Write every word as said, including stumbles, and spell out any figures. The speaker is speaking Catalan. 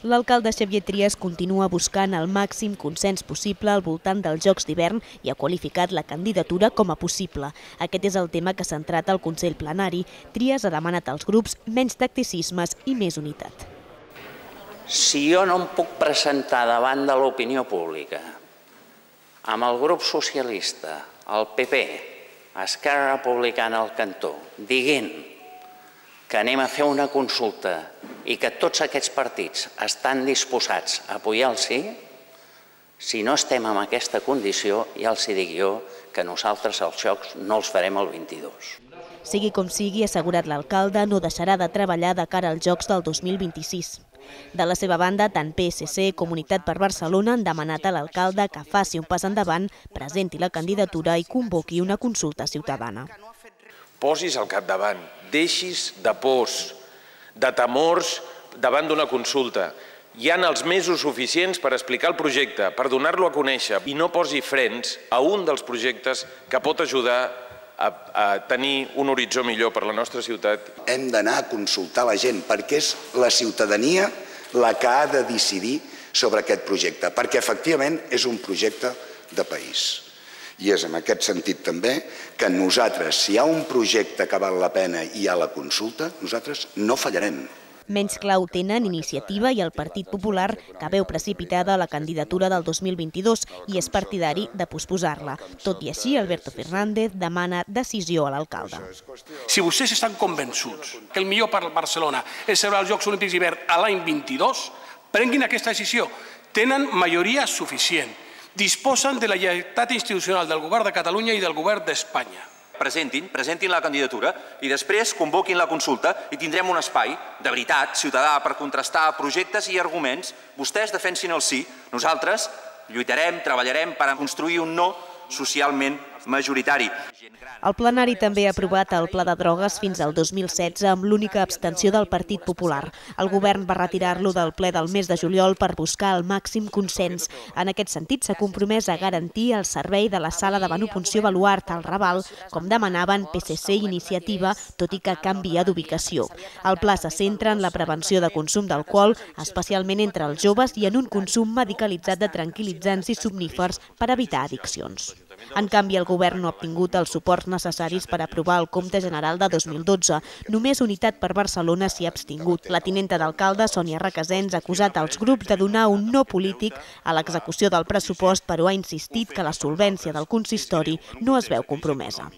L'alcalde Xavier Trias continua buscant el màxim consens possible al voltant dels Jocs d'hivern i ha qualificat la candidatura com a possible. Aquest és el tema que ha centrat el Consell Plenari. Trias ha demanat als grups menys tacticismes i més unitat. Si jo no em puc presentar davant de l'opinió pública amb el grup socialista, el P P, Esquerra Republicana al cantó, dient que anem a fer una consulta i que tots aquests partits estan disposats a apoyar el sí, si no estem en aquesta condició, ja els dic jo que nosaltres els Jocs no els farem el vint-i-dos. Sigui com sigui, ha assegurat l'alcalde, no deixarà de treballar de cara als Jocs del dos mil vint-i-sis. De la seva banda, tant P S C com Unitat per Barcelona han demanat a l'alcalde que faci un pas endavant, presenti la candidatura i convoqui una consulta ciutadana. Posis al capdavant, deixis de pors, de temors davant d'una consulta. Hi ha els mesos suficients per explicar el projecte, per donar-lo a conèixer i no posi frens a un dels projectes que pot ajudar a tenir un horitzó millor per la nostra ciutat. Hem d'anar a consultar la gent perquè és la ciutadania la que ha de decidir sobre aquest projecte, perquè efectivament és un projecte de país. I és en aquest sentit també que nosaltres, si hi ha un projecte que val la pena i hi ha la consulta, nosaltres no fallarem. Menys clau tenen Iniciativa i el Partit Popular, que veu precipitada la candidatura del dos mil vint-i-dos i és partidari de posposar-la. Tot i així, Alberto Fernández demana decisió a l'alcalde. Si vostès estan convençuts que el millor per Barcelona és celebrar els Jocs Olímpics d'hivern a l'any vint-i-dos, prenguin aquesta decisió. Tenen majoria suficient. Disposen de la lleialtat institucional del govern de Catalunya i del govern d'Espanya. Presentin, presentin la candidatura i després convoquin la consulta i tindrem un espai de veritat, ciutadà, per contrastar projectes i arguments. Vostès defensin el sí, nosaltres lluitarem, treballarem per construir un no socialment majoritari. El plenari també ha aprovat el pla de drogues fins al dos mil setze amb l'única abstenció del Partit Popular. El govern va retirar-lo del ple del mes de juliol per buscar el màxim consens. En aquest sentit, s'ha compromès a garantir el servei de la sala de venopunció Baluart al Raval, com demanaven P S C i Iniciativa, tot i que canvia d'ubicació. El pla se centra en la prevenció de consum d'alcohol, especialment entre els joves, i en un consum medicalitzat de tranquil·litzants i somnífers per evitar addiccions. En canvi, el govern no ha obtingut els suports necessaris per aprovar el compte general de dos mil dotze. Només Unitat per Barcelona s'hi ha abstingut. La tinenta d'alcalde, Sònia Requesens, ha acusat als grups de donar un no polític a l'execució del pressupost, però ha insistit que la solvència del consistori no es veu compromesa.